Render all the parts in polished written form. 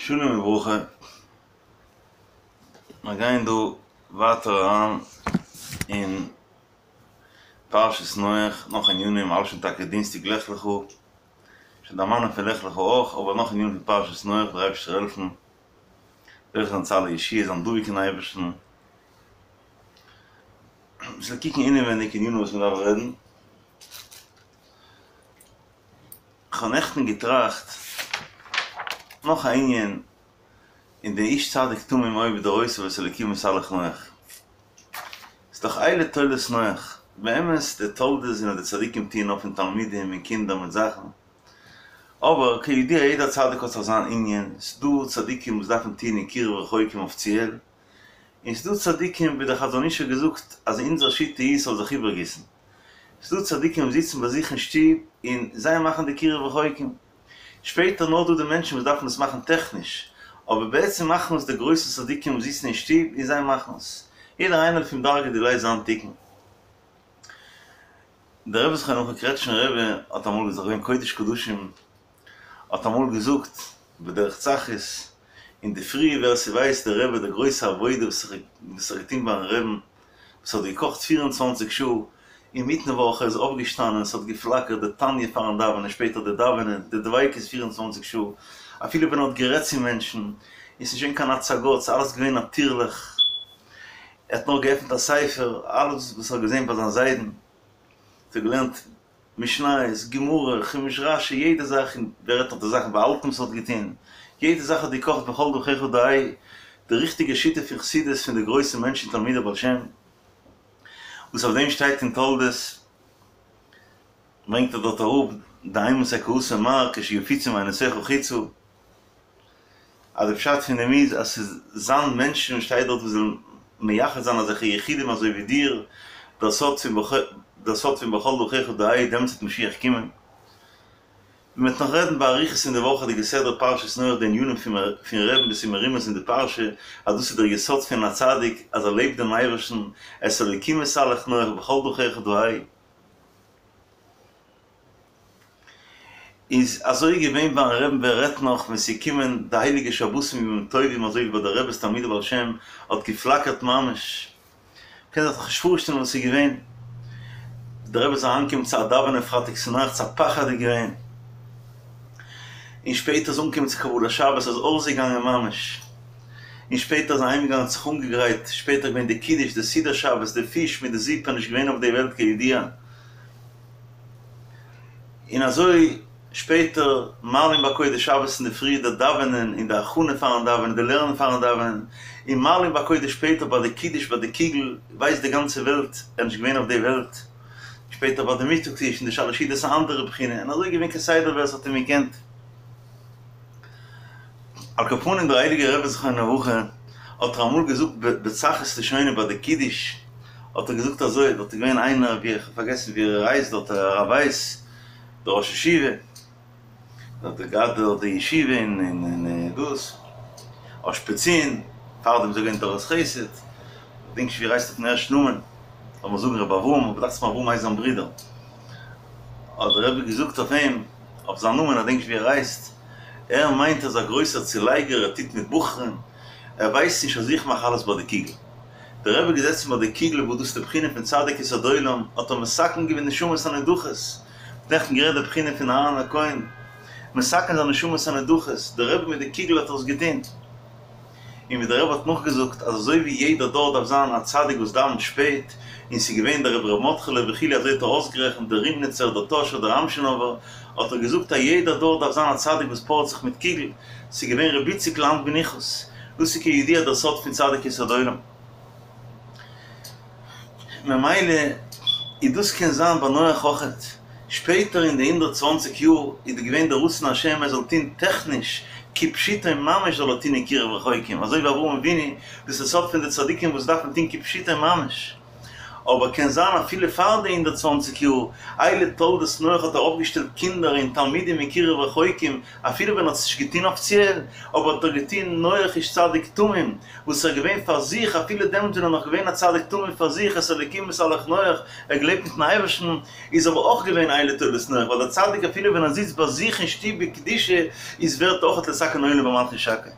שלום וברכה, מיר גייען דא ווייטער אריין אין פרשת נח, נאך ענינים, האלט שוין טאקע דינסטאג לך לך, שוין דערמאנען פון לך לך אויך, אבער נאך ענינים פון פרשת נח, דער אייבערשטער זאל העלפן, זוכה זיין צו אלע ישועות, זיין דבוק אין אייבערשטן, אביסל קוקן אינעווייניג ענינים וואס מען דארף רעדן. כ'האב נעכטן געטראכט נאך א ענין אין די איש צדיק תמים היה בדורותיו ואת האלקים התהלך נח. ס'איז דאך אלה תולדות נח. באמת די תולדות זענען די צדיקים טוען אויף פון תלמידים און קינדער מיט זאכן. אבער כידוע יעדער צדיק האט זיך זיין ענין, ס'דא צדיקים וואס דארפן טוען אין קירוב רחוקים אפיציעל, און ס'דא צדיקים ווי דער חזון איש האט געזאגט אז אונזער שיטה איז ס'זאל זיך איבערגיסן. ס'דא צדיקים וואס זיצן ביי זיך אין שטוב און זיי מאכן די קירוב רחוקים. שפעטער נאר דא די מענטשן וואס דארפן עס מאכן טעכניש, אבער בעצם מאכן עס די גרויסע צדיקים וואס זיצן אין שטוב און זיי מאכן עס. יעדער איינער לפום דרגא דיליה זיין תיקון. דער רבי זכרונו לברכה קרעטשנער רבי האט אמאל געזאגט געווען קודש קדשים האט אמאל געזאגט בדרך צחות אינדערפרי ווער ס'ווייסט דער רבי די גרויסע עבודה וואס ער האט געטון ביים רעבן וואס האט געקאכט פיר און צוואנציג שעה אינמיטן וואך ער איז אויפגעשטאנען ס'האט געפלאקערט די תניא פארן דאווענען שפעטער די דאווענען די דביקות 24 שעה אפילו ווען ער האט גערעדט צו מענטשן איז נישט געווען קיין הצגות ס'איז אלעס געווען נאטירליך ער האט נאר געעפנט א ספר אלעס וואס ער האט געזען ביי זיין זיידן האט ער געלערנט משניות, גמרא, חומש רשי, יעדע זאך, און ווער רעדט נאך די זאכן באהאלטן וואס ער האט געטון, יעדע זאך האט געקאכט בכל דרכיך דעהו, די ריכטיגע שיטה פון חסידות פון די גרויסע מענטשן תלמידי בעל שם, וואס אויף דעם שטייט אין תולדות, ברענגט ער דארט אראפ, דאימתי קאתי מר כשיפוצו מעינותיך חוצה. אז די פשט פון דעם איז אז ס'איז זיין מענטשן שטייט דארט וואס זאלן מייחד זיין אזעלכע יחידים אזוי ווי דיר, דער סוד פון דער סוד פון בכל דרכיך דעהו דעמאלטס וועט משיח קומען. מען וועט נאך רעדן באריכות אין די וואכעדיגע סדרה פרשת נח די ענינים פון רעבן וואס איז מרומז אין די פרשה אז דאס איז דער יסוד פון א צדיק אז ער לעבט דעם אייבערשטן את האלקים התהלך נח בכל דרכיך דעהו. איז אזוי געווען ביים רעבן ווער רעדט נאך ווען ס'איז געקומען די הייליגע שבתים ימים טובים אזוי ווי ביי די רעבעס תלמידי בעל שם האט געפלאקערט ממש מ'קען זיך דאך נישט פארשטעלן וואס איז געווען די רבי איז אריינגעקומען צו א דאווענען פרייטאג צונאכטס א פחד איז געווען און שפעטער איז אנגעקומען צו קבלת שבת איז אויסגעגאנגען ממש און שפעטער איז אהיימגעגאנגען האט זיך אנגעגרייט שפעטער געווען די קידוש די סעודת שבת די פיש מיט די זופ איז נישט געווען אויף די וועלט כידוע. און אזוי שפעטער מעלין בקודש שבת אינדערפרי די דאווענען און די הכנה פארן דאווענען די לערנען פארן דאווענען, און מעלין בקודש שפעטער ביי די קידוש ביי די קוגל ווייסט די גאנצע וועלט ער איז נישט געווען אויף די וועלט, שפעטער ביי די מיטאג טיש און די שלש סעודות א אנדערע בחינה, און אזוי געווען כסדר ווער עס האט אים געקענט. על כל פנים דער הייליגער רבי זכרונו לברכה האט ער אמאל געזאגט בצחות לשונו ביי די קידוש האט ער געזאגט אזוי, דארט איז געווען איינער ווי איך האב פארגעסן ווי ער הייסט דארט הרב ווייס דער ראש ישיבה דארט האט געהאט דארט די ישיבה אין אין דאס אושפיצין פארדעם איז ער געווען תורת חסד כ'דענק נישט ווי ער הייסט אויפן ערשטן נאמען לאמיר זאגן רבי אברהם אבער דאכט זיך מיר אברהם הייסט זיין ברודער האט דער רבי געזאגט אויף אים אויף זיין נאמען איך דענק נישט ווי ער הייסט, ער מיינט ער איז א גרויסער צולייגער ער טוט מיט בחורים, ער ווייסט נישט אז איך מאך אלעס ביי די קוגל. דער רבי געזעצן ביי די קוגל וואס דאס איז די בחינה פון צדיק יסוד עולם, האט ער מתקן געווען נשמות הנדחות, נעכטן גערעדט די בחינה פון אהרן הכהן, מתקן זיין נשמות הנדחות, דער רבי מיט די קוגל האט ער עס געטון. און ווי דער רבי האט נאכגעזאגט אז אזוי ווי יעדער דור דארף זיין א צדיק וואס דאווענט שפעט, און ס'איז געווען דער רבי ר' מרדכי'לע וכו' אזוי האט ער אויסגערעכנט דער רימניצער, דער טאהשער, דער אמשינאווער, האט ער געזאגט אז יעדער דור דארף זיין א צדיק וואס פארעט זיך מיט קוגל, ס'איז געווען ר' איציק לאנד בניחוס, דאס איז כידוע דער סוד פון צדיק יסוד עולם. ממילא איז דאס קען זיין ביי נח אויכעט, שפעטער אין די 120 יאר איז געווען דער רצון השם ער זאל טון טעכניש כפשוטו ממש זאל ער טון אין קירוב רחוקים, אזוי ווי אברהם אבינו, דאס איז סוד פון די צדיקים וואס דארפן טון כפשוטו ממש. אבער קען זיין אפילו פאר די 120 יאר, אלה תולדות נח האט ער אויפגעשטעלט קינדער און תלמידים מקרב רחוקים, אפילו ווען ער האט עס נישט געטון אפיציעל, אבער האט ער געטון נח איש צדיק תמים, וואס ער איז געווען פאר זיך אפילו דעמאלט ווען ער איז נאך געווען א צדיק תמים פאר זיך, את האלוקים התהלך נח, ער האט געלעבט מיטן אייבערשטן, איז אבער אויך געווען אלה תולדות נח, ווייל דער צדיק אפילו ווען ער זיצט ביי זיך אין שטוב בקדושה איז ווערט אויך לתקן עולם במלכות שקי.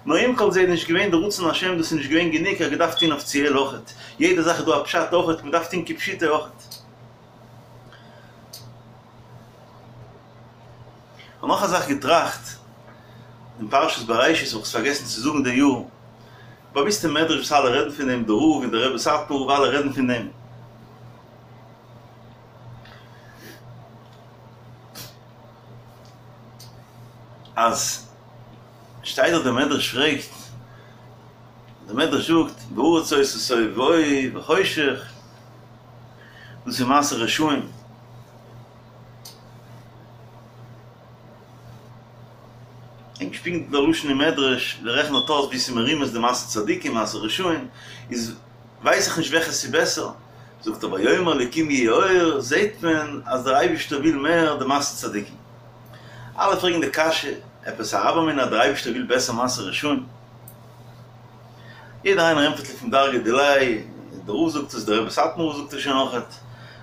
נאר עם כל זה איז נישט געווען די רצון השם דאס איז נישט געווען גענוג ער האט געדארפט טון אפיציעל אויכעט, יעדע זאך איז דא א פשט אויכעט מען דארף טון כפשוטו אויכעט. כ'האב נאך א זאך געטראכט, אין פרשת בראשית האב איך עס פארגעסן צו זאגן די יאר, באוויסטע מדרש וואס אלע רעדן פון דעם, די רב און די רבי סאטמאר רב אלע רעדן פון דעם. אז שטייט דארט דער מדרש פרעגט, דער מדרש זאגט והארץ היתה תוהו ובוהו וחושך, דאס איז מעשה רשעים. און געשפינט דער לשון אין מדרש, דער רעכנט דארט אויס ווי ס'איז מרומז די מעשה צדיקים מעשה רשעים, איז ווייס איך נישט וועלכע ס'איז בעסער, זאגט ער ויאמר אלקים יהי אור, זעהט מען אז דער אייבערשטער וויל מער די מעשה צדיקים. אלע פרעגן די קשיא, עפעס א הוה אמינא אז דער אייבערשטער וויל בעסער מעשה רשעים? יעדער איינער ענטפערט לפום דרגא דיליה, דער רב זאגט עס, דער רבי סאטמאר רב זאגט עס שוין אויכעט,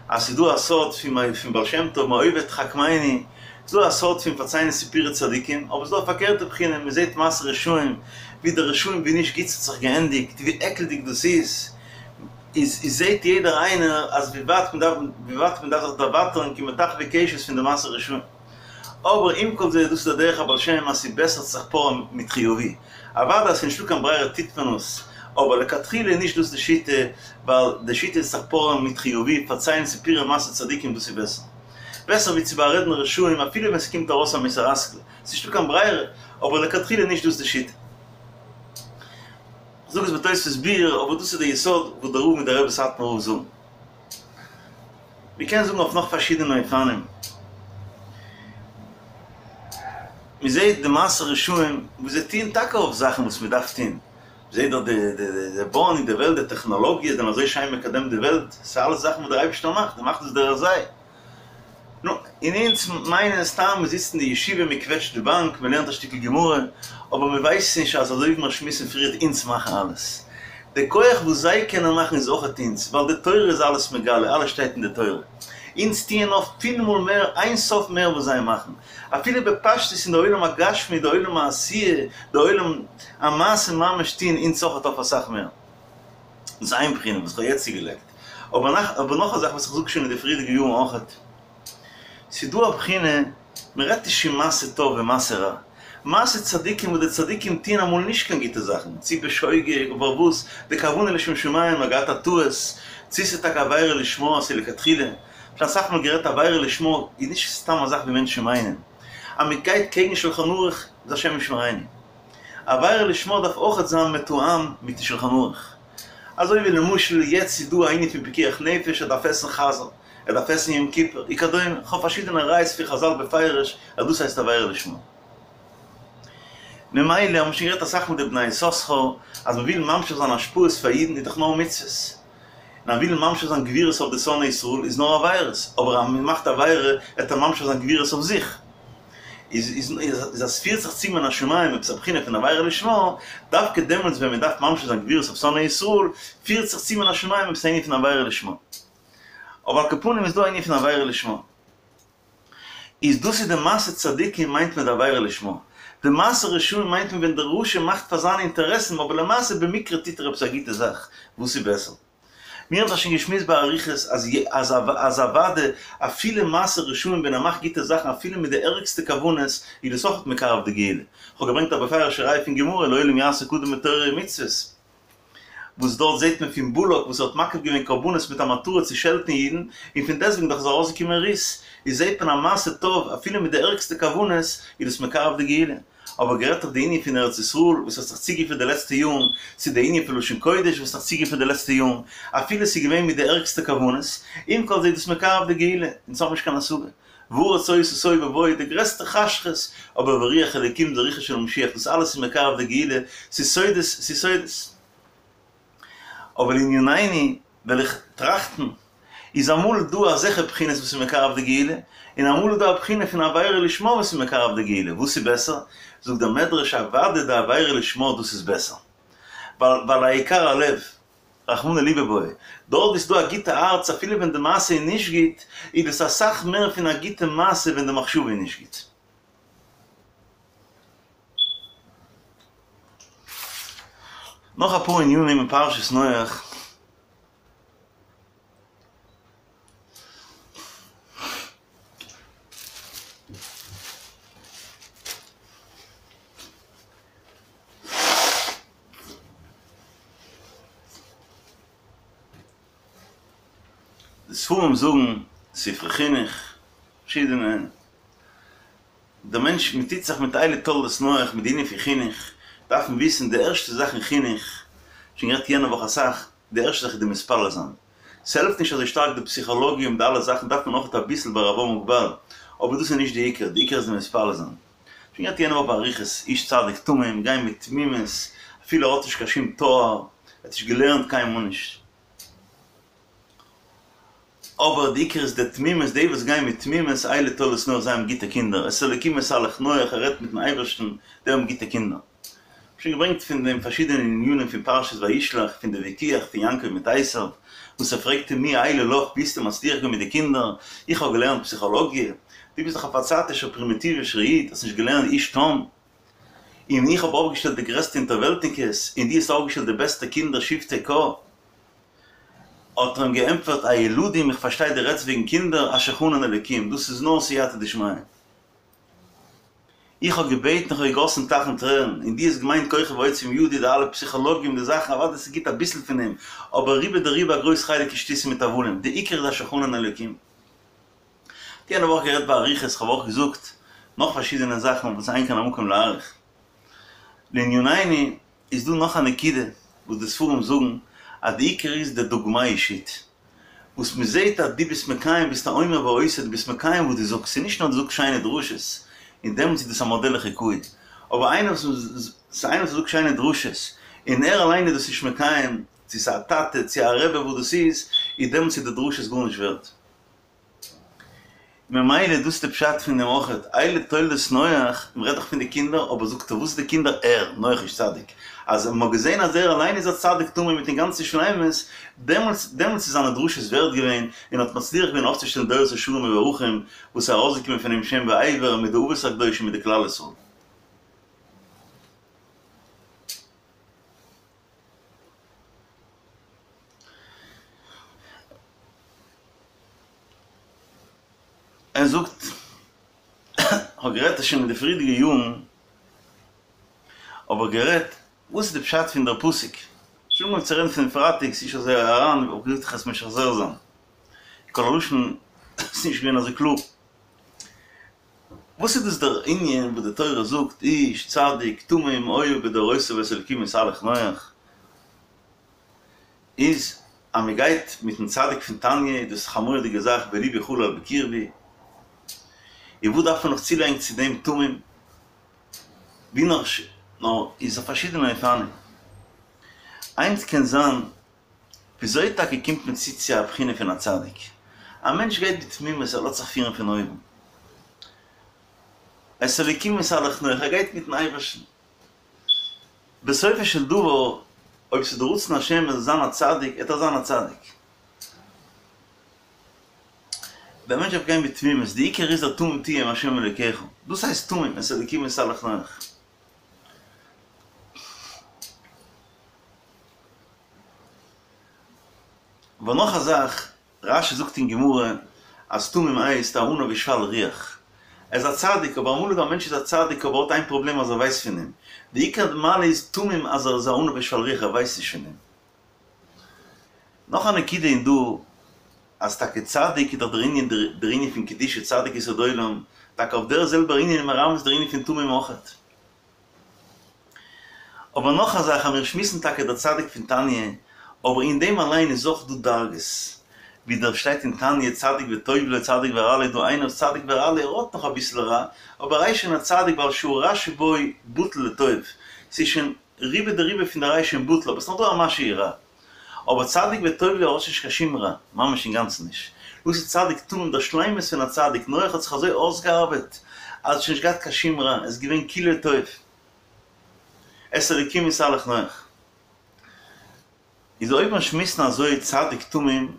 אז ס'איז דא א סוד פון בעל שם טוב מאויבי תחכמני, ס'איז דא א סוד פון פארציילן סיפורי צדיקים, אבער ס'איז דא א פארקערטע בחינה, מען זעט מעשה רשעים, ווי די רשעים ווי נישט גוט ס'האט זיך געענדיגט, ווי עקלדיג דאס איז, איז איז זעט יעדער איינער אז ווי ווייט מען דארף ווי ווייט מען דארף זיך דערווייטערן כמטחווי קשת פון די מעשה רשעים. אבער עם כל זה דאס איז דער דרך הבעל שם אז ס'איז בעסער צו זיך פארען מיט חיובי. אוודאי אז ס'איז נישטא קיין ברירה טוט מען עס, אבער לכתחילה איז נישט דאס די שיטה, ווייל די שיטה איז זיך פארען מיט חיובי, פארציילן סיפורי מעשה צדיקים דאס איז בעסער. בעסער ווי צו בארעדן רשעים אפילו ווען ס'קומט ארויס א מוסר השכל, ס'איז נישטא קיין ברירה, אבער לכתחילה איז נישט דאס די שיטה. כ'זאג עס בתוספות ביאור, אבער דאס איז די יסוד וואס דער רב מיט דער רבי סאטמאר רב זאגן. מ'קען זאגן אויף נאך פארשידענע אופנים. מ'זעט די מעשה רשעים וואס זיי טוען טאקע אויף זאכן וואס מ'דארף טון. מ'זעט דאך די די בויען אין די וועלט, די טעכנאלאגיע זענען אזוי שיין מקדם די וועלט. ס'איז אלעס זאכן וואס דער אייבערשטער מאכט, ער מאכט עס דורך זיי. נו, און אונז מיינען סתם מען זיצט אין די ישיבה מען קוועטשט די באנק מען לערנט א שטיקל גמרא, אבער מען ווייסט נישט אז אזוי ווי מיר שמועסן פריערט אונז מאכן אלעס. די כח וואס זיי קענען מאכן איז אויכעט אונז, ווייל די תורה איז אלעס מגלה, אלעס שטייט אין די תורה. אונז טוען אויף פיל מאל מער אין סוף מער וואס זיי מאכן. אפילו בפשטות אין די עולם הגשמי, די עולם העשייה, די עולם המעשה ממש טוען אונז אויכעט אויף אסאך מער. דאס איז איין בחינה וואס כ'האב יעצט צוגעלייגט. אבער נאך א זאך וואס איך זאג שוין אין די פריערדיגע יארן אויכעט. ס'איז דא א בחינה, מ'רעדט נישט פון מעשה טוב און מעשה רע. מעשה צדיקים וואס די צדיקים טוען אמאל נישט קיין גוטע זאכן, צו בשוגג אבער וואס, די כוונה לשם שמים, מ'האט געהאט א טעות, צו ס'איז טאקע עבירה לשמה, ס'איז לכתחילה. שוין אסאך מאל גערעדט עבירה לשמה איז נישט סתם א זאך ווי מענטשן מיינען. אז מ'גייט קעגן שלחן ערוך איז השם ישמרינו. עבירה לשמה דארף אויכעט זיין מתואם מיטן שלחן ערוך. אזוי ווי למשל יעצט איז דא א ענין פון פיקוח נפש ער דארף עסן חזיר, ער דארף עסן יום כיפור, וכדומה, כ'האב פארשידענע ראיות פון חזל בפירוש אז דאס הייסט עבירה לשמה. ממילא האבן מיר שוין גערעדט אסאך מיט די בני יששכר אז מ'וויל ממשיך זיין השפעות פאר אידן איז דאך נאר מצוות, און אז מ'וויל ממשיך זיין גבורות אויף די שונאי ישראל איז נאר עבירות, אבער אז מ'מאכט עבירה וועט ער ממשיך זיין גבורות אויף זיך. איז איז אז ס'פירט זיך צו מן השמים עפעס א בחינה פון עבירה לשמה, דווקא דעמאלטס ווען מען דארף ממשיך זיין גבורות אויף שונאי ישראל, פירט זיך צו מן השמים עפעס א ענין פון עבירה לשמה. אבער על כל פנים איז דא א ענין פון עבירה לשמה. איז דאס איז די מעשה צדיקים מיינט מען די עבירה לשמה. די מעשה רשעים מיינט מען ווען דער רשע מאכט פאר זיינע אינטערעסן אבער למעשה במקרה טוט ער עפעס א גוטע זאך, וואס איז בעסער? מיר האבן דאך שוין געשמועסט באריכות אז אז אז אוודאי אפילו מעשה רשעים ווען ער מאכט גוטע זאכן אפילו מיט די ערגסטע כוונות איז דאס אויך מקרב די גאולה. כ'האב געברענגט א בפירוש'ע ראי' פון גמרא לעולם יעסוק אדם בתורה ומצוות וואס דארט זעט מען פון בלק וואס ער האט מקריב געווען קרבנות מיט א מטרה צו שעלטן אידן און פון דעסטוועגן דאך איז ארויסגעקומען רות איז זעט מען א מעשה טוב אפילו מיט די ערגסטע כוונות איז דאס מקרב די גאולה. אבער גערעדט אויף די ענין פון ארץ ישראל וואס האט זיך צוגעפירט די לעצטע יארן, צו די ענין פון לשון קודש וואס האט זיך צוגעפירט די לעצטע יארן, אפילו ס'איז געווען מיט די ערגסטע כוונות, עם כל זה איז דאס מקרב די גאולה, אונז האבן נישט קיין השגה. והארץ היתה תוהו ובוהו, די גרעסטע חשכות, אבער ורוח אלוקים די רוחו של משיח, דאס אלעס איז מקרב די גאולה, ס'איז סודות, ס'איז סודות. אבער לענינינו. וועל איך טראכטן, איז אמאל דא אזעלכע בחינות וואס איז מקרב די גאולה, און אמאל איז דא א בחינה פון עבירה לשמה וואס איז מקרב די גאולה, וואס איז בעסער? זאגט דער מדרש אוודאי די עבירה לשמה דאס איז בעסער, ווייל ווייל העיקר הלב, רחמנא ליבא בעי, דארט וואו ס'איז דא א גוטע הארץ אפילו ווען די מעשה איז נישט גוט, איז דאס אסאך מער פון א גוטע מעשה ווען די מחשבה איז נישט גוט. נאך אפאר ענינים אין פרשת נח. די ספרים זאגן, ספרי חינוך, פארשידענע, דער מענטש, מען טוט זיך מיט אלה תולדות נח, מיט די ענין פון חינוך, דארף מען וויסן די ערשטע זאך אין חינוך, שוין גערעדט יענע וואך אסאך, די ערשטע זאך איז די מתפלל זיין. ס'העלפט נישט אזוי שטארק די פסיכאלאגיע מיט די אלע זאכן דארף מען אויך אביסל בערבון מוגבל, אבער דאס איז נישט די עיקר, די עיקר איז די מתפלל זיין. שוין גערעדט יענע וואך באריכות, איש צדיק תמים, גיין מיט תמימות, אפילו ער האט נישט קיין שום תואר, ער האט נישט געלערנט קיינמאל נישט. אבער די עיקר איז די תמימות, די וואס גייען מיט תמימות, אלה תולדות נח, זיי האבן גוטע קינדער, את האלוקים התהלך נח, ער רעדט מיטן אייבערשטן, די האבן גוטע קינדער. שוין געברענגט פון דעם פארשידענע ענינים פון פרשת וישלח, פון די וויכוח פון יעקב מיט עשיו, וואס ער פרעגט אים מי אלה לך, ווי האסטו מצליח געווען מיט די קינדער, איך האב געלערנט פסיכאלאגיע, דו ביסט דאך א פארצייטישער פרימיטיווישער איד, האסט נישט געלערנט איש תם, און איך האב אויפגעשטעלט די גרעסטע אונטערוועלטניקעס, און דו האסט אויפגעשטעלט די בעסטע קינדער שבטי קה. האט ער אים געענטפערט, הילדים, איך פארשטיי דו רעדסט וועגן קינדער, אשר חנן אלוקים, דאס איז נאר סייעתא דשמיא. איך האב געבעטן, איך האב געגאסן טייכן טרערן, און דו האסט געמיינט כוחי ועוצם ידי, די אלע פסיכאלאגיע די זאכן, אוודאי ס'איז גוט אביסל פון דעם, אבער רובא דרובא א גרויס חלק איז שטותים מיט הבלים, די עיקר איז אשר חנן אלוקים. יענע וואך גערעדט באריכות, כ'האב אויך געזאגט נאך פארשידענע זאכן וואס אין כאן המקום להאריך. לענינינו איז דא נאך א נקודה וואס די ספרים זאגן אז די עיקר איז די דוגמא אישית. וואס מען זעט אז דו ביסט מקיים ביסט א אומר ועושה דו ביסט מקיים וואס דו זאגסט ס'איז נישט נאר דו זאגסט שיינע דרשות און דעמאלטס איז דאס א מאדעל לחיקוי אבער איינער וואס איינער וואס זאגט שיינע דרשות און ער אליין איז דאס נישט מקיים צו ס'איז א טאטע צו א רבי וואס דאס איז איז דעמאלטס איז די דרשות גארנישט ווערט. ממילא דאס איז די פשט פון דעם אויכעט, אלה תולדות נח, מען רעדט דאך פון די קינדער, אבער זאגט ער וואס איז די קינדער ער, נח איש צדיק, אז מען האט געזען אז ער אליין איז א צדיק תמים מיטן גאנצן שלימות, דעמאלטס דעמאלטס איז זיינע דרשות ווערט געווען, און האט מצליח געווען אויפצושטעלן דורות ישרים מבורכים, וואס איז ארויסגעקומען פון אים שם ועבר מיט די אבות הקדושים מיט די כלל ישראל. ער זאגט, כ'האב גערעדט עס שוין אין די פריערדיגע יארן, האב איך גערעדט וואס איז די פשט פון דער פסוק, שוין אנגעהויבן צו רעדן פון פרייטאג, ס'איז נישט אזוי אריין, האב איך געזאגט איך וועל עס משחזר זיין, קול הלשון איז נישט געווען אזוי קלאר. וואס איז דאס דער ענין וואס די תורה זאגט איש צדיק תמים היה בדורותיו ואת האלקים התהלך נח, איז אז מען גייט מיטן צדיק פון תניא איז דאס א מורא'דיגע זאך ולבי חלל בקרבי, און וואס דארף מען נאך צולייגן צו דעם תמים, ווי נאר נאר איז אויף פארשידענע אופנים, איינס קען זיין וויאזוי טאקע קומט מען צו צו א בחינה פון א צדיק? א מענטש גייט בתמימות, ער לאזט זיך פירן פון אויבן. את האלוקים התהלך נח, ער גייט מיטן אייבערשטן. בסופו של דבר, אויב ס'איז די רצון השם ער זאל זיין א צדיק, עט ער זיין א צדיק. דער מענטש דארף גיין בתמימות, די עיקר איז דער תמים תהיה עם השם אלוקיך, דאס הייסט תמים, את האלוקים התהלך נח. אבער נאך א זאך, רש"י זאגט אין גמרא אז תמים הייסט א עניו ושפל רוח. ער איז א צדיק, אבער אמאל איז דא א מענטש איז א צדיק אבער האט איין פראבלעם אז ער ווייסט פון דעם. די עיקר מעלה איז תמים אז ער איז א עניו ושפל רוח ער ווייסט נישט פון דעם. נאך א נקודה אין דא, אז טאקע צדיק איז דאך דער ענין דער ענין פון קדושה צדיק יסוד עולם, טאקע אויף דער זעלבער ענין איז מרמז דער ענין פון תמים אויכעט. אבער נאך א זאך אז מיר שמועסן טאקע דער צדיק פון תניא, אבער אין דעם אליין איז אויך דא דרגות, ווי דער שטייט אין תניא צדיק וטוב לו צדיק ורע לו איז דא איינער וואס צדיק ורע לו ער האט נאך אביסל רע, אבער ער איז שוין א צדיק ווייל שהרע שבו בטל לטוב, ס'איז שוין רובא דרובא פון די רע איז שוין בטל אבער ס'נאך דא א משהו רע. אבער צדיק וטוב לו האט נישט קיין שום רע, ממש אינגאנצן נישט. דאס איז צדיק תמים, דער שלימות פון א צדיק, נח האט זיך אזוי אויסגעארבעט, אז ער האט שוין נישט געהאט קיין שום רע, עס איז געווען כולו טוב. את האלוקים התהלך נח. איז אויב מיר שמועסן אזוי צדיק תמים,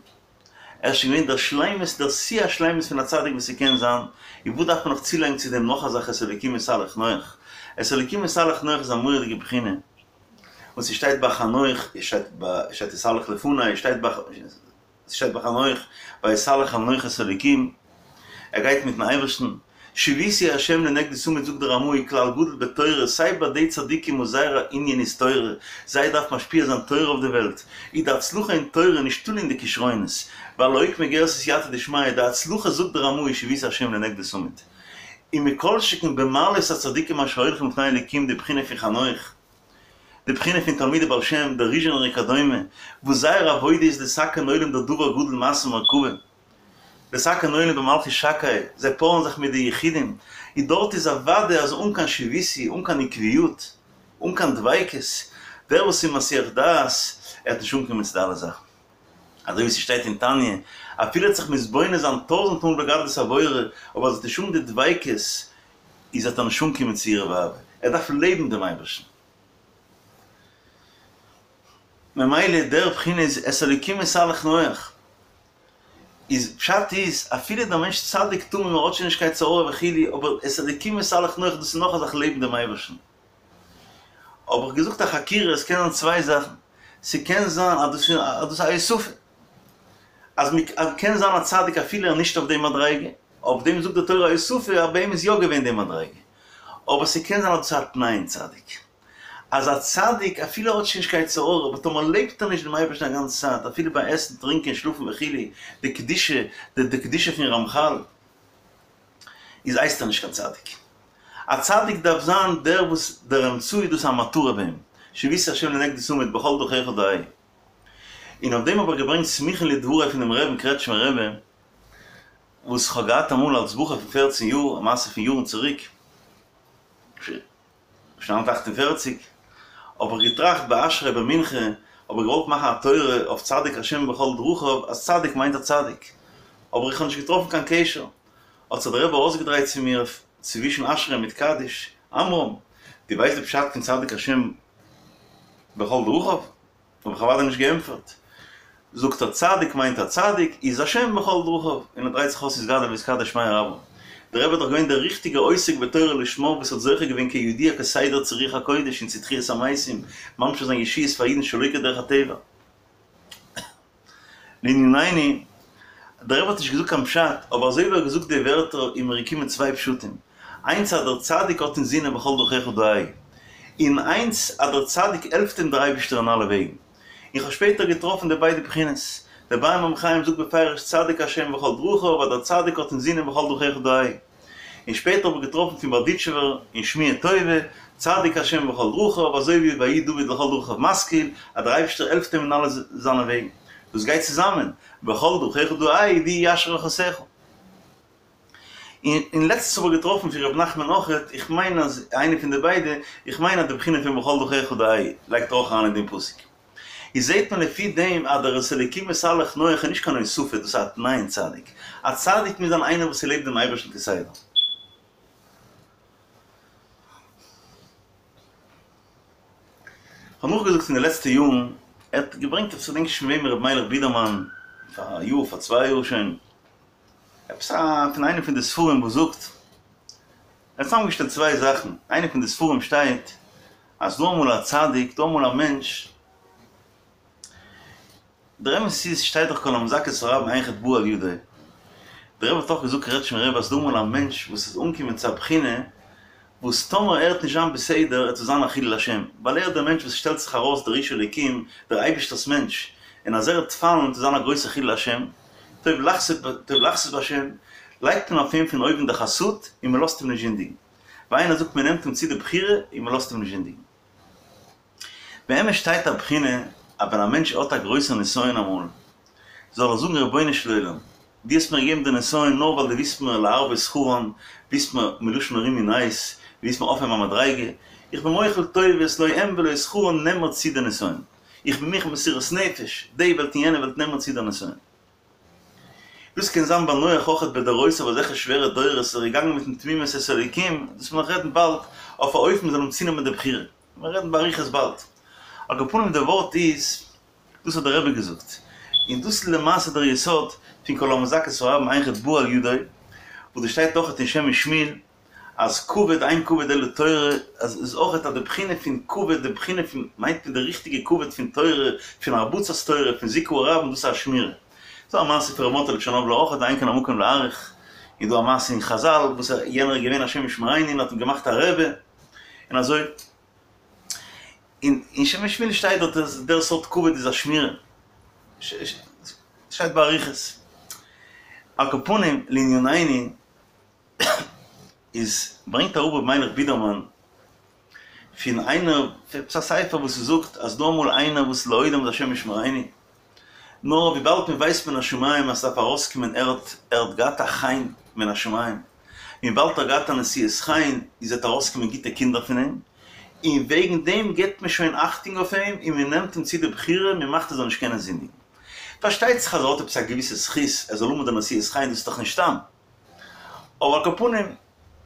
ער איז שוין געווען דער שלימות, דער שיא השלימות פון א צדיק וואס ס'קען זיין, איז וואס דארף מען נאך צולייגן צו דעם נאך א זאך את האלוקים התהלך נח? את האלוקים התהלך נח איז א מורא'דיגע בחינה, וואס ס'שטייט ביי חנוך, עס שטייט ביי, עס שטייט התהלך לפני, עס שטייט ביי, עס שטייט ביי חנוך, ויתהלך חנוך את האלוקים, ער גייט מיטן אייבערשטן, שויתי ה' לנגדי תמיד זאגט דער רמ"א כלל גדול בתורה, סיי ביי די צדיקים וואס זייער ענין איז תורה, זיי דארפן משפיע זיין תורה אויף די וועלט, איז די הצלחה אין תורה נישט תלוי אין די כשרונות, ווייל לאוקמי גירסא סייעתא דשמיא, די הצלחה זאגט דער רמ"א איז שויתי ה' לנגדי תמיד. און מכל שכן במעלות הצדיקים אשר הולכים לפני אלוקים די בחינה פון חנוך, די בחינה פון תלמידי בעל שם, דער ריזשינער וכדומה, וואס זייער עבודה איז לתקן עולם דער דבר גדול מעשה מרכבה, לתקן עולם במלכות שקי, זיי פארן זיך מיט די יחידים, און דארט איז אוודאי אז אן קיין שויתי, אן קיין עקביות, אן קיין דביקות, דער וואס איז מסיח דעת, ער וועט נישט אנקומען צו די אלע זאכן. אזוי ווי ס'שטייט אין תניא, אפילו ער וועט זיך מתבונן זיין טויזענט מאל בגדלות הבורא, אבער אז ער וועט נישט האבן די דביקות, איז וועט ער נישט אנקומען צו יראה ואהבה, ער דארף לעבן דעם אייבערשטן. ממילא דער בחינה איז את האלוקים התהלך נח. איז פשט איז, אפילו דער מענטש צדיק תמים ער האט שוין נישט קיין יצר הרע וכו', אבער את האלוקים התהלך נח דאס איז נאך א זאך לעבן דעם אייבערשטן. האב איך געזאגט א חקירה, עס קען זיין צוויי זאכן, ס'קען זיין אז דאס איז א הוספה, אז מ'קען זיין א צדיק אפילו ער איז נישט אויף די מדריגה, אויף דעם זאגט די תורה א הוספה אז ביי אים איז יא געווען די מדריגה, אבער ס'קען זיין אז דאס איז א תנאי אין צדיק, אז א צדיק אפילו ער האט שוין נישט קיין יצר הרע, אבער טאמער לעבט ער נישט דעם אייבערשטן א גאנצע צייט, אפילו ביי עסן, טרינקען, שלאפן וכו', די קדושה, די קדושה פון רמח"ל, איז הייסט ער נישט קיין צדיק. א צדיק דארף זיין דער וואס דער אמצעי דאס איז א מטרה ביי אים, שויתי השם לנגדי תמיד בכל דרכיך דעהו. און אויף דעם האב איך געברענגט סמוכין לדברי פונעם רעבן קרעטשמער רבי, וואס כ'האב געהאט אמאל אלס בחור פון פערצן יאר, א מעשה פון יארן צוריק, שנת 48, האב איך געטראכט ביי אשרי ביי מנחה, האב איך געוואלט מאכן א תורה אויף צדיק השם בכל דרכיו, אז צדיק מיינט א צדיק, אבער איך האב נישט געטראפן קיין קשר, האט זיך דער רבי אויסגעדרייט צו מיר צווישן אשרי מיט קדיש, עמרם, דו ווייסט די פשט פון צדיק השם בכל דרכיו? האב איך אוודאי נישט געענטפערט. זאגט ער צדיק מיינט א צדיק, איז השם בכל דרכיו, און ער דרייט זיך אויס יתגדל ויתקדש שמיה רבא. דער רבי איז דאך געווען דער ריכטיגער עוסק בתורה לשמה וואס האט זוכה געווען כידוע כסדר צו רוח הקודש און צו תחיית המתים, ממשיך זיין ישועות פאר אידן שלא כדרך הטבע. לענינינו, דער רבי האט נישט געזאגט קיין פשט, אבער אזוי ווי ער האט געזאגט די ווערטער איז מיר געקומען צוויי פשטים, איינס אז דער צדיק האט אין זינען בכל דרכיך דעהו, און איינס אז דער צדיק העלפט אים דער אייבישטער אין אלע וועגן. איך האב שפעטער געטראפן די ביידע בחינות, דער באר מים חיים זאגט בפירוש צדיק השם בכל דרכיו אז דער צדיק האט אין זינען בכל דרכיך דעהו. און שפעטער האב איך געטראפן פון בארדיטשובער אין שמועה טובה, צדיק השם בכל דרכיו, אזוי ווי ויהי דוד לכל דרכיו משכיל, אז דער אייבערשטער העלפט אים אין אלע זיינע וועגן. דאס גייט צוזאמען, בכל דרכיך דעהו והוא יישר אורחותיך. און לעצטנס האב איך געטראפן פון ר' נחמן אויכעט, איך מיין אז איינע פון די ביידע, איך מיין אז די בחינה פון בכל דרכיך דעהו לייגט ער אויך אריין אין דעם פסוק. איז זעהט מען לפי דעם אז דער את האלוקים התהלך נח איז נישט קיין הוספה, דאס איז א תנאי אין צדיק. א צדיק מוז זיין איינער וואס לעבט דעם אייבערשטן כסדר. כ'האב נאכגעזאגט אין די לעצטע יארן, ער האט געברענגט עפעס כ'דענק נישט פון וועם ר' מיילעך בידערמאן, פאר א יאר פאר צוויי יאר שוין, עפעס א פון איינע פון די ספרים וואס זאגט, ער האט צוזאמגעשטעלט צוויי זאכן, איינע פון די ספרים שטייט אז דא אמאל א צדיק, דא אמאל א מענטש, דער אמת איז שטייט דאך כל המזכה את הרבים אין חטא בא על ידו, דער רבי האט אויך געזאגט קרעטשמער רבי אז דא אמאל א מענטש וואס איז אנגעקומען צו א בחינה וואס טאמער ער וועט נישט זיין בסדר וועט עס זיין א חילול השם, ווייל ער איז דער מענטש וואס שטעלט זיך ארויס דער איש אלוקים, דער אייבישטער'ס מענטש, און אז ער וועט פאלן וועט עס זיין א גרויסע חילול השם, טוב לחסות בהשם, לייגט מען אויף אים פון אויבן די חסות און מען לאזט אים נישט זינדיגן. ווי איינער זאגט מען נעמט אים צו די בחירה און מען לאזט אים נישט זינדיגן. באמת שטייט א בחינה אז ווען א מענטש האט א גרויסע נסיון אמאל, זאל ער זאגן רבונו של עולם, דו האסט מיר געגעבן די נסיון נאר ווייל דו ווילסט מיר להרבות שכרן, ווילסט מיר, מלשון הרימו נס, ווילסט מיר אויפהייבן א מדריגה, איך בין מוחל טובות, לא הם ולא שכרן, נעם מיר צו די נסיון. איך בין מוכן מסירות נפש, די וועלט און יענע וועלט נעם מיר צו די נסיון. דאס קען זיין ביי נח אויכעט בדורותיו אזעלכע שווערע דורות איז ער געגאנגען מיטן תמימות את האלוקים, דאס וועל מיר נאך רעדן באלד, אויף א אופן מ'זאל אים צונעמען די בחירה. מיר רעדן באריכות באלד. על כל פנים די ווארט איז, דאס האט דער רבי געזאגט, און דאס איז למעשה דער יסוד פון כל המזכה את הרבים אין חטא בא על ידו, וואס דאס שטייט אויכעט אין שם משמואל, אז כבוד אין כבוד אלא תורה, אז איז אויכעט אז די בחינה פון כבוד, די בחינה פון, מיינט מען די ריכטיגע כבוד פון תורה, פון הרבצת תורה, פון זיכוי הרבים, דאס איז א שמירה. ס'דא א מעשה פון ר' מאטעלע טשערנאבלער אויכעט, אין כאן המקום להאריך, איז דא א מעשה אין חזל וואס יענער איז געווען השם ישמרינו און האט אים געמאכט א רבי, און אזוי. און אין שם משמואל שטייט דארט אז דער סארט כבוד איז א שמירה. שטייט באריכות. על כל פנים, לענינינו, איז ברענגט אראפ ר' מיילעך בידערמאן פון איינער פון עפעס א ספר וואס ס'זאגט אז דא אמאל איינער וואס לעולם איז השם ישמרינו נאר וויבאלד מען ווייסט מן השמים אז ס'דארף ארויסקומען ער האט ער האט געהאט א חן מן השמים וויבאלד ער האט געהאט א נשיאת חן איז וועט ארויסקומען גוטע קינדער פון אים און וועגן דעם געבט מען שוין אכטונג אויף אים און מען נעמט אים צו די בחירה מען מאכט ער זאל נישט קענען זינדיגן פארשטייט זיך אז ער האט עפעס א געוויסע זכות ער זאל האבן די נשיאת חן דאס איז דאך נישט סתם. אבער על כל פנים,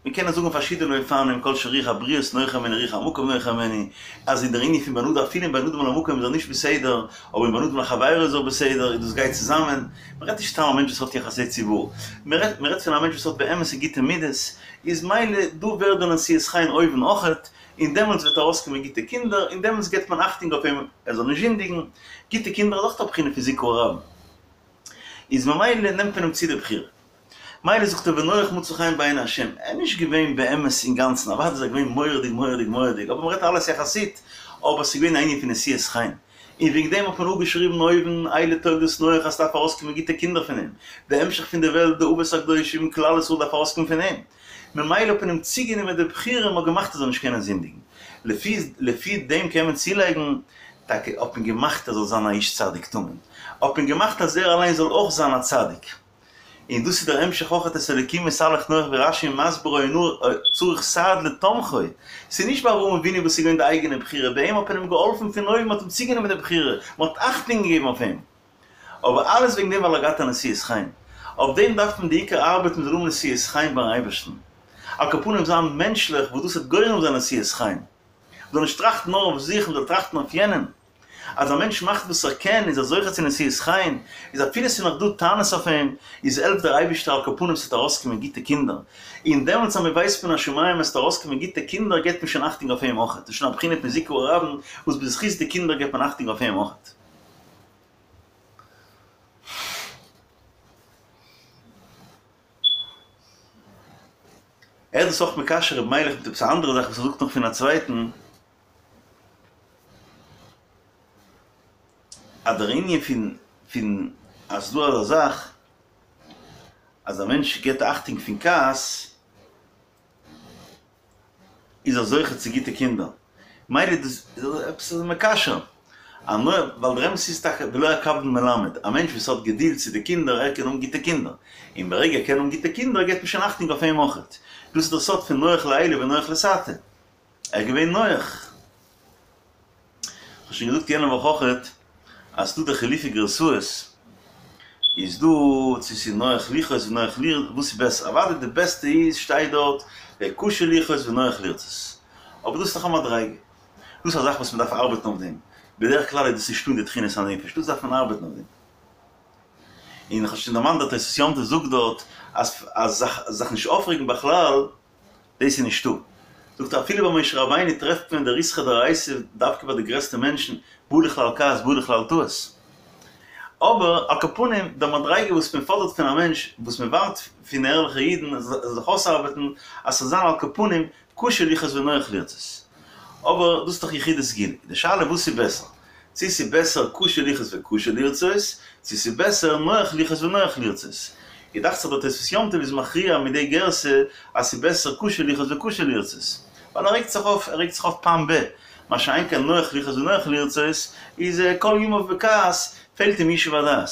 מיר קענען זאגן פארשידענע אופנים, כל שרוח הבריות נוחה הימנו רוח המקום נוחה הימנו, אז אין דער ענין פון בין אדם אפילו אין בין אדם למקום איז ער נישט בסדר, אבער אין בין אדם לחבירו איז ער בסדר, און דאס גייט צוזאמען. מען רעדט נישט סתם א מענטש וואס האט יחסי ציבור, מען רעדט מען רעדט פון א מענטש וואס האט באמת גוטע מידות, איז מילא דא ווערט די נשיאת חן אויבן אויכעט, און דעמאלטס וועט ארויסקומען גוטע קינדער, און דעמאלטס געבט מען אכטונג אויף אים ער זאל נישט זינדיגן, גוטע קינדער איז אויך א בחינה פון זיכוי הרבים. איז ממילא נעמט מען אים צו די בחירה. מילא זאגט ער ונח מצא חן בעיני השם, ער איז נישט געווען באמת אינגאנצן, אוודאי איז ער געווען מורא'דיג מורא'דיג מורא'דיג, אבער מ'רעדט אלעס יחסית, אבער ס'איז געווען א ענין פון נשיאת חן, און וועגן דעם האט מען אפגעשריבן אויבן אלה תולדות נח אז ס'דארף ארויסקומען גוטע קינדער פון אים, די המשך פון די וועלט, די אבות הקדושים, כלל ישראל דארף ארויסקומען פון אים, ממילא האט מען אים צוגענומען די בחירה און מ'האט געמאכט ער זאל נישט קענען זינדיגן. לפי לפי דעם קען מען צולייגן, טאקע האט מען געמאכט ער זאל זיין א איש צדיק תמים, האט מען געמאכט אז ער אליין זאל אויך זיין א צדיק. און דאס איז דער המשך אויך את האלקים התהלך נח ווי רש"י מסביר היה צריך סעד לתומכו, ס'איז נישט ביי אברהם אבינו וואס איז געווען די אייגענע בחירה, ביי אים האט מען אים געהאלפן פון אויבן, מ'האט אים צוגענומען די בחירה, מ'האט אכטונג געגעבן אויף אים. אבער אלעס וועגן דעם ווייל ער האט געהאט א נשיאת חן. אויף דעם דארף מען די עיקר ארבעטן מ'זאל האבן נשיאת חן ביים אייבערשטן. על כל פנים זיין מענטשליך וואס דאס וועט גורם זיין נשיאת חן. מ'זאל נישט טראכטן נאר אויף זיך, מ'זאל טראכטן אויף יענעם. אז א מענטש מאכט וואס ער קען איז ער זוכה צו נשיאת חן, איז אפילו ס'איז נאך דא טענות אויף אים, איז העלפט דער אייבערשטער על כל פנים ס'וועט ארויסקומען גוטע קינדער. און דעמאלטס אז מ'ווייסט מן השמים אז ס'וועט ארויסקומען גוטע קינדער געבט מען שוין אכטונג אויף אים אויך. דאס איז שוין א בחינה פון זיכוי הרבים וואס בזכות די קינדער געבט מען אכטונג אויף אים אויך. ער איז דאס אויך מקשר ר' מיילעך מיט עפעס א אנדערע זאך וואס ער זאגט נאך פון א צווייטן, אז דער ענין פון פון אז ס'דא אזא זאך אז א מענטש געבט אכטונג פון כעס, איז ער זוכה צו גוטע קינדער. מילא דאס איז עפעס אזוי מקשר. א נ ווייל דער אמת איז טאקע ולא הקפדן מלמד, א מענטש וואס האט געדולד צו די קינדער, ער קען האבן גוטע קינדער. און ברגע ער קען האבן גוטע קינדער געבט מען שוין אכטונג אויף אים אויכעט. דאס איז דער סוד פון נוח לעילא ונוח לתתא. ער איז געווען נוח. כ'האב שוין געזאגט יענע וואך אויכעט אז ס'דא די חילופי גרסאות, איז דא צו ס'איז נוח לכעוס ונוח לרצות, וואס איז בעסער? אוודאי די בעסטע איז שטייט דארט קשה לכעוס ונוח לרצות, אבער דאס איז דאך א מדריגה, דאס איז א זאך וואס מ'דארף ארבעטן אויף דעם, בדרך כלל איז דאס נישטא אין די תכונת הנפש, דאס דארף מען ארבעטן אויף דעם. און כ'האב שוין דערמאנט דער תוספות יום טוב זאגט דארט אז אז זיך נישט אויפרעגן בכלל, דאס איז נישטא. זאגט ער אפילו ביי משה רבינו טרעפט מען די ריתחא דאורייתא דווקא ביי די גרעסטע מענטשן, בא לכלל כעס בא לכלל טעות. אבער על כל פנים די מדריגה וואס מען פאדערט פון א מענטש, וואס מען ווארט פון ערליכע אידן אז זיי זאלן זיך אויסארבעטן אז ס'זאל זיין על כל פנים קשה לכעוס ונוח לרצות. אבער דאס איז דאך יחידי סגולה. די שאלה וואס איז בעסער? צו ס'איז בעסער קשה לכעוס וקשה לרצות, צו ס'איז בעסער נוח לכעוס ונוח לרצות. איז דאכט זיך דער תוספות יום טוב איז מכריע מיט די גרסה אז ס'איז בעסער קשה לכעוס וקשה לרצות. ווייל ער רעגט זיך אויף, ער רעגט זיך אויף פעם ב. מה שאין כן נוח לכעוס ונוח לרצות איז כל ימיו בכעס, פעלט אים ישוב הדעת.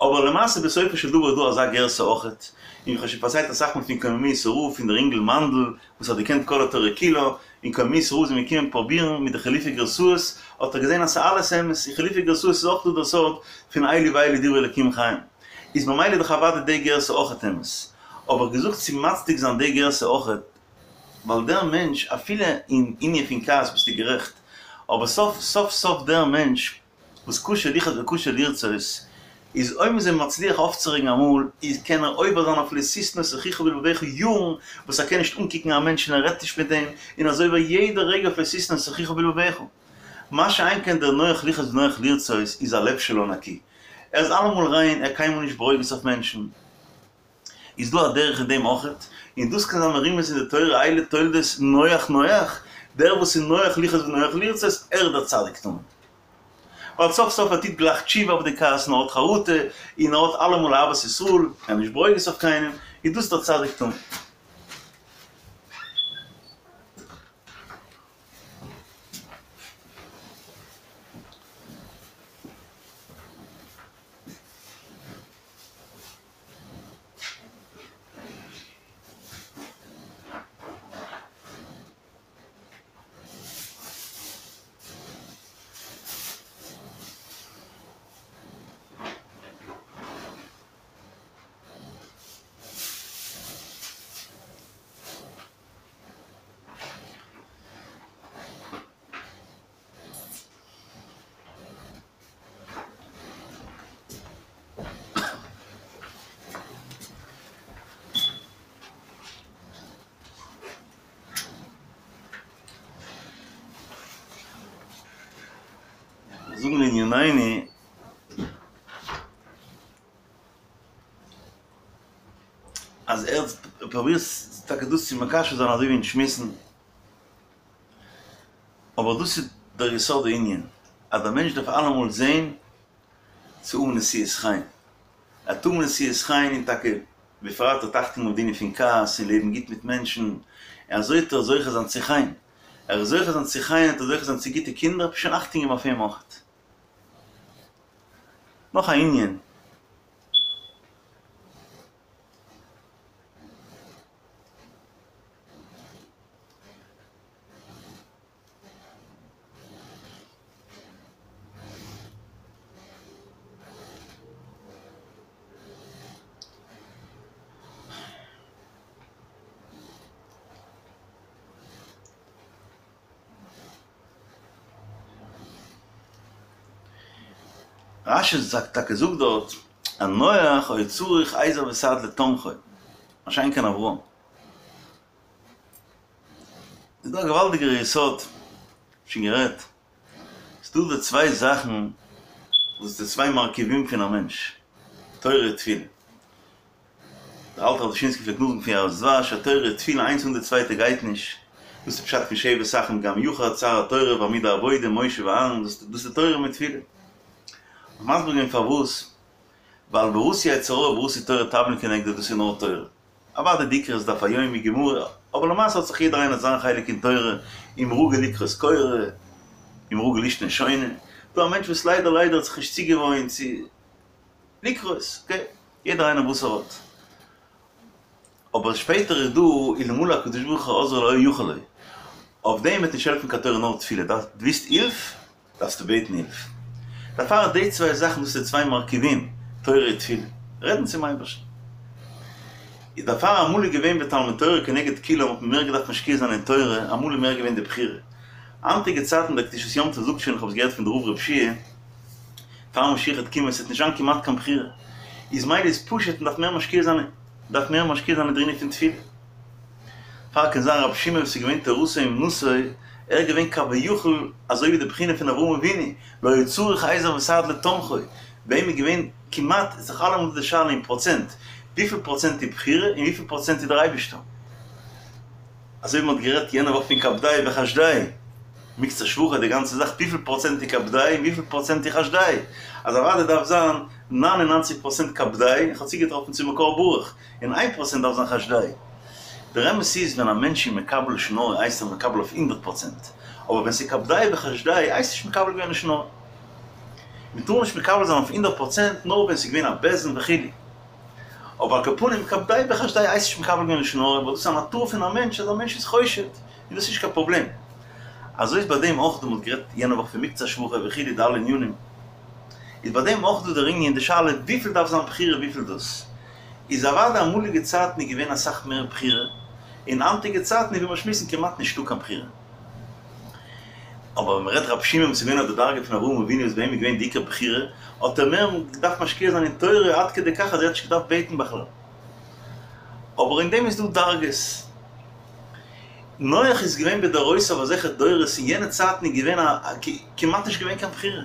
אבער למעשה בסופו של דבר איז דא אזא גרסה אויכעט, און איך האב שוין פארציילט אסאך מאל פון קוממיות רב פון דער אינגל מאנדל וואס האט געקענט כל התורה כולה, און און קוממיות רב זענען געקומען פרובירן מיט די חילופי גרסאות, האט ער געזען אז ס'איז אלעס אמת, אין חילופי גרסאות איז אויך דא דער סוד פון אלו ואלו דברי אלקים חיים. איז ממילא דאך אוודאי די גרסה אויכעט אמת. אבער געזאגט צו מצדיק זיין די גרסה אויכעט, ווייל דער מענטש, אפילו אין ענין פון כעס ביסטו גערעכט, אבער סוף סוף סוף דער מענטש וואס קשה לכעוס וקשה לרצות, איז אויב מ'איז אים מצליח אויפצורעגן אמאל, איז קען ער עובר זיין אויף לא תשנא את אחיך בלבבך יארן וואס ער קען נישט אנקוקן א מענטש און ער רעדט נישט מיט אים, און אזוי עובר יעדע רגע אויף לא תשנא את אחיך בלבבך. מה שאין כן דער נוח לכעוס ונוח לרצות איז הלב שלו נקי. ער איז אלעמאל ריין, ער קיינמאל נישט ברוגז אויף מענטשן. איז דא א דרך אין דעם אויכעט, און דאס קען זיין מרומז אין די תורה אלה תולדות נוח נוח, דער וואס איז נוח לכעוס ונוח לרצות, ער איז דער צדיק תמים. ווייל סוף סוף ער טוט גלייך תשובה אויף די כעס און ער האט חרטה, און ער האט אלעמאל אהבת ישראל, ער איז נישט ברוגז אויף קיינעם, איז דאס דער צדיק תמים. זאגן לענינינו אז ער פרובירט טאקע דאס צו מקשר זיין אזוי ווי אין שמועסן. אבער דאס איז דער יסוד הענין, אז דער מענטש דארף אלעמאל זען צו האבן נשיאות חן. ער האט האבן נשיאות חן און טאקע בפרט האט אכטונג אויף די ענין פון כעס און לעבן גוט מיט מענטשן, און אזוי וועט ער זוכה זיין צו חן. ער איז זוכה זיין צו חן, וועט ער זוכה זיין צו גוטע קינדער, שוין אכטונג געבן אויף אים אויך. נאך א ענין. רש"י זאגט טאקע זאגט דארט אז נח היה צריך עזר וסעד לתומכו, מה שאין כן אברהם. איז דא א געוואלדיגער יסוד, שוין גערעדט, ס'איז דא די צוויי זאכן וואס די צוויי מרכיבים פון א מענטש, תורה און תפילה. דער אלטער רב דושינסקי פלעגט נאכזאגן פון יערות דבש אז תורה און תפילה איינס אן די צווייטע גייט נישט, דאס איז פשט פון שבת אחים גם יחד, שר התורה ועמוד העבודה, משה ואהרן, דאס איז תורה מיט תפילה. כ'האב מסביר געווען פארוואס, ווייל בראתי יצר הרע בראתי תורה תבלין כנגדו דאס איז נאר תורה. אוודאי די עיקר איז דף היומי גמרא, אבער למעשה האט זיך יעדער איינער זיין חלק אין תורה, אם רגיל לקרות קורא, אם רגיל לישנה שונה, דא א מענטש וואס ליידער ליידער האט זיך נישט צוגעוואוינט צו לקרות, אקעי, יעדער איינער וואס ער האט. אבער שפעטער איז דא אלמלא הקדוש ברוך הוא עוזרו לא היה יכול לו, אויף דעם וועט נישט העלפן קיין תורה נאר תפילה, דו ווילסט הילף? דארפסטו בעטן הילף. דערפאר די צוויי זאכן דאס איז די צוויי מרכיבים, תורה און תפילה, רעדן צום אייבערשטן. איז דערפאר אמאל איז געווען ותלמוד תורה כנגד כולם האט מען מער געדארפט משקיע זיין אין תורה, אמאל איז מער געווען די בחירה. היינטיגע צייטן דער קדושת יום טוב זאגט שוין, איך האב עס געהערט פון די רב רב שיע, פאר משיח וועט קומען עס וועט נישט זיין כמעט קיין בחירה, איז מילא איז פשוט מען דארף מער משקיע זיין, דארף מער משקיע זיין אין דער ענין פון תפילה. פאר קען זיין רבי שמעון וואס איז געווען תורתו אומנותו, ער איז געווען כביכול אזוי ווי די בחינה פון אברהם אבינו, לא היה צריך עזר וסעד לתומכו, ביי אים איז געווען כמעט, איז דאך אלעמאל דא די שאלה אין פראצענט, וויפיל פראצענט איז בחירה און וויפיל פראצענט איז דער אייבישטער. אזוי ווי מען האט גערעדט יענע וואך פון כבדהו וחשדהו, מקצה שבחא די גאנצע זאך וויפיל פראצענט איז כבדהו און וויפיל פראצענט איז חשדהו, אז אוודאי דארף זיין 99 פראצענט כבדהו, איך האב צוגעטראפן צו מקור ברוך, און איין פראצענט דארף זיין חשדהו. דער אמת איז ווען א מענטש איז מקבל לשון הרע הייסט ער מקבל אויף הונדערט פראצענט, אבער ווען ס'איז כבדהו וחשדהו הייסט נישט מקבל געווען לשון הרע. מ'טאר נישט מקבל זיין אויף הונדערט פראצענט נאר ווען ס'איז געווען א בית דין וכו'. אבער על כל פנים כבדהו וחשדהו הייסט נישט מקבל געווען לשון הרע ווייל דאס איז א נאטור פון א מענטש אז א מענטש איז חושד. און דאס איז נישט קיין פראבלעם. אזוי איז ביי דעם אויך דא, מען האט גערעדט יענע וואך פון מקצת שבחו וכו' די אלע ענינים, איז ביי דעם אויך דא דער ענין די שאלה וויפיל דארף זיין בחירה וויפיל דאס איז אוודאי אמאליגע צייטן איז געווען אסאך מער בחירה, אין היינטיגע צייטן איז ווי מיר שמועסן כמעט נישטא קיין בחירה. אבער ווען מ'רעדט רבי שמעון וואס איז געווען אויף די דרגה פון אברהם אבינו וואס ביי אים איז געווען די עיקר בחירה, האט ער מער געדארפט משקיע זיין אין תורה עד כדי כך אז ער האט נישט געדארפט בעטן בכלל. אבער אין דעם איז דא דרגות. נח איז געווען בדורותיו אזעלכע דורות, אין יענע צייטן איז געווען א כמעט נישט געווען קיין בחירה.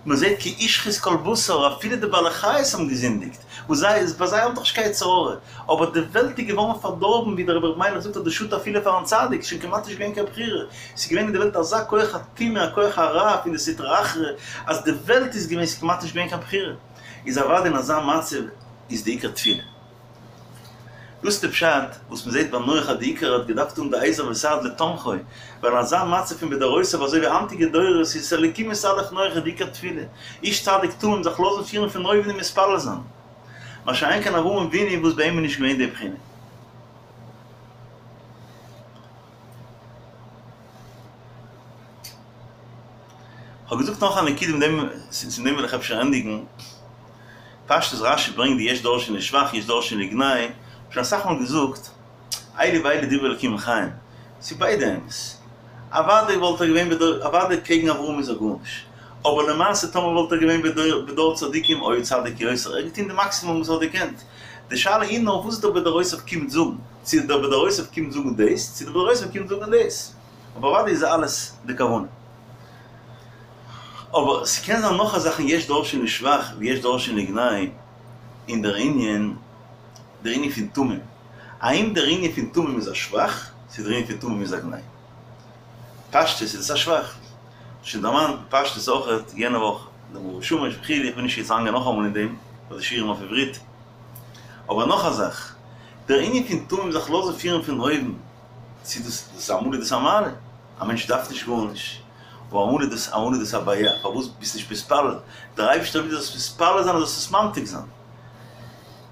מען זעט כי השחית כל בשר, אפילו די בעלי חיות האבן געזינדיגט, וואס זיי, ביי זיי האבן דאך נישט קיין יצר הרע, אבער די וועלט איז געווארן פארדארבן, ווי דער רבי ר' מיילעך זאגט אז דאס שאדט אפילו פארן צדיק, ס'איז שוין כמעט נישט געווען קיין בחירה, ס'איז געווען אין די וועלט אזא כח הטומאה, א כח הרע פון די סטרא אחרא, אז די וועלט איז געווען, ס'איז כמעט נישט געווען קיין בחירה, איז אוודאי אין אזא מצב איז די עיקר תפילה. דאס איז די פשט וואס מען זעט ביי נח אז די עיקר האט געדארפט האבן די עזר וסעד לתמכו, ווייל אין אזא מצב פון בדורותיו אזוי ווי היינטיגע דורות איז את האלקים התהלך נח איז די עיקר תפילה, איש צדיק תמים זיך לאזן פירן פון אויבן און מתפלל זיין. מה שאין כן אברהם אבינו וואס ביי אים איז נישט געווען די בחינה. כ'האב געזאגט נאך א נקודה מיט דעם, צו דעם וויל איך אפשר ענדיגן. פשטות רשי ברענגט די יש דורשין לשבח יש דורשין לגנאי, כ'האב שוין אסאך מאל געזאגט, אלו ואלו דברי אלקים חיים, ס'איז ביידע אמת. אוודאי וואלט ער געווען בדור, אוודאי קעגן אברהם איז ער גארנישט, אבער למעשה טאמער וואלט ער געווען בדור בדור צדיקים היה צדיק יותר, ער האט געטון די מאקסימום וואס ער האט געקענט. די שאלה איז נאר וואס דער בדורותיו קומט זאגן, צו דער בדורותיו קומט זאגן דאס, צו דער בדורותיו קומט זאגן דאס. אבער אוודאי איז אלעס די כוונה. אבער ס'קען זיין נאך א זאך אין יש דורשין לשבח ויש דורשין לגנאי אין דער ענין, דער ענין פון תמים. האם דער ענין פון תמים איז א שבח, צו דער ענין פון תמים איז א גנאי. פשטות איז עס א שבח. שוין דערמאנט פשטות אויכעט יענע וואך דעם מאור ושמש וכו', איך וויל נישט יעצט אריינגיין נאכאמאל אין דעם, ווייל די שיעורים אויף עברית. אבער נאך א זאך, דער ענין פון תמים זיך לאזן פירן פון אויבן, צו דאס דאס אמאל איז דאס א מעלה, א מענטש דארף נישט גארנישט, אבער אמאל איז דאס אמאל איז דאס א בעיה, פארוואס ביסט נישט מתפלל, דער אייבערשטער וויל דו זאלסט מתפלל זיין און זאלסט עס ממתיק זיין,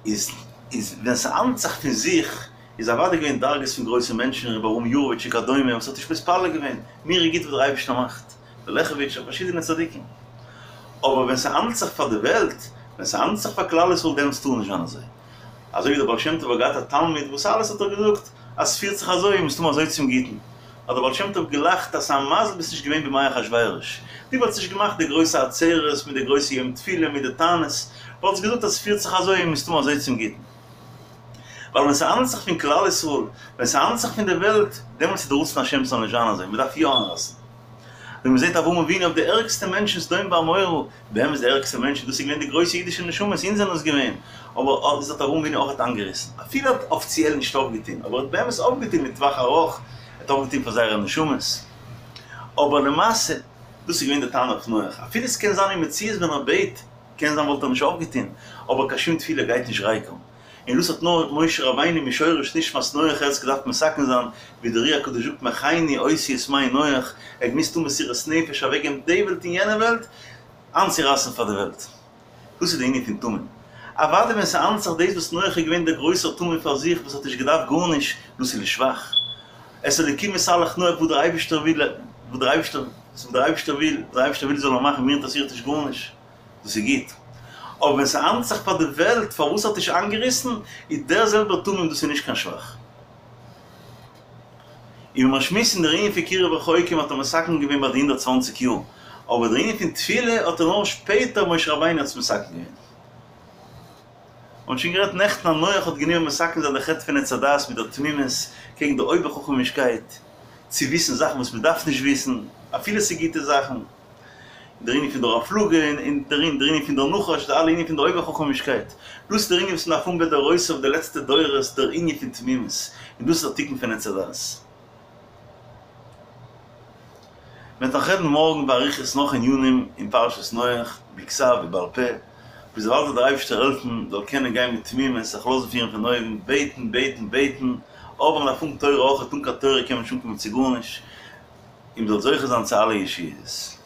איז איז ווען ס'האנדלט זיך פון זיך, איז אוודאי געווען דרגות פון גרויסע מענטשן, רבי אברהם יארוויטש וכדומה, וואס האט נישט מתפלל געווען, מיר איז גוט וואס דער אייבערשטער מאכט, די לעכעוויטשער און פארשידענע צדיקים. אבער ווען ס'האנדלט זיך פאר די וועלט, ווען ס'האנדלט זיך פאר כלל ישראל דעמאלטס טאר נישט זיין אזוי. אזוי ווי דער בעל שם טוב האט געהאט א תלמיד וואס אלעס האט ער געזאגט אז ס'פירט זיך אזוי מסתמא אזוי צום גוטן, האט דער בעל שם טוב געלאכט אז ס'א מזל ביסט נישט געווען בימי אחשורוש, דו וואלטסט נישט געמאכט די גרויסע עצרת מיט די גרויסע יום תפילה מיט די תענית, וואלטסט געזאגט אז ס'פירט זיך אזוי מסתמא אזוי צום גוטן. ווייל ווען ס'האנדלט זיך פון כלל ישראל, ווען ס'האנדלט זיך פון די וועלט, דעמאלטס איז די רצון השם ס'זאל נישט זיין אזוי, מ'דארף יא איינרייסן. ווען מ'זעט אברהם אבינו אויף די ערגסטע מענטשן סדום ועמורה, באמת די ערגסטע מענטשן, דאס איז געווען די גרויסע אידישע נשמות, אונז זענען עס געווען, אבער דאס האט אברהם אבינו אויך איינגעריסן, אפילו ער האט אפיציעל נישט אויפגעטון, אבער ער האט באמת אויפגעטון לטווח ארוך, ער האט אויפגעטון פאר זייערע נשמות, אבער למעשה, דאס איז געווען די טענה אויף נח, אפילו עס קען זיין אין מציאות ווען ער בעט, קען זיין וואלט ער נישט אויפגעטון, אבער קיין שום תפילה גייט נישט ריקם. און דאס האט נאר משה רבינו משורש נשמת נח ער האט עס געדארפט מתקן זיין, ווי דער אר"י הקדוש זאגט מחני אותיות מי נח, ער האט געמוזט טון מסירות נפש אוועקגעבן די וועלט און יענע וועלט, איינצורייסן פאר די וועלט. דאס איז די ענין פון תמים. אוודאי ווען ס'האנדלט זיך דאס וואס נח איז געווען דער גרויסער תמים פאר זיך וואס האט נישט געדארפט גארנישט, דאס איז לשבח. את האלקים התהלך נח וואס דער אייבערשטער וויל, וואס דער אייבערשטער, וואס דער אייבערשטער וויל, וואס דער אייבערשטער וויל זאל ער מאכן, מיר אינטערעסירט נישט גארנישט. דאס איז גוט. אבער ווען ס'האנדלט זיך פאר די וועלט פארוואס האט נישט איינגעריסן, איז דער זעלבער תמים דאס איז נישט קיין שבח. און ווען מיר שמועסן דער ענין פון קירוב רחוקים האט ער מתקן געווען ביי די 120 יאר, אבער דער ענין פון תפילה האט ער נאר שפעטער משה רבינו האט עס מתקן געווען. מ'האט שוין גערעדט נעכטן אז נח האט גענומען מתקן זיין די חטא פון עץ הדעת מיט דער תמימות קעגן די אויבער-חכמישקייט צו וויסן זאכן וואס מ'דארף נישט וויסן אפילו ס'איז גוטע זאכן. דער ענין פון דור הפלגה און דער ענין פון דער נחש, די אלע ענינים פון די אויבער-חכמישקייט, דאס איז דער ענין וואס מ'דארף האבן בדורותיו די לעצטע דורות, דער ענין פון תמימות, און דאס איז דער תיקון פון עץ הדעת. מ'וועט נאך רעדן מארגן באריכות נאך ענינים אין פרשת נח, בכתב ובעל פה, ביז דערווייל זאל דער אייבערשטער העלפן מ'זאל קענען גיין מיט תמימות, זיך לאזן פירן פון אויבן, בעטן, בעטן, בעטן, אבער מ'דארף האבן תורה אויך, אן קיין תורה קען מען נישט אנקומען צו גארנישט, און מ'זאל זוכה זיין צו אלע ישועות.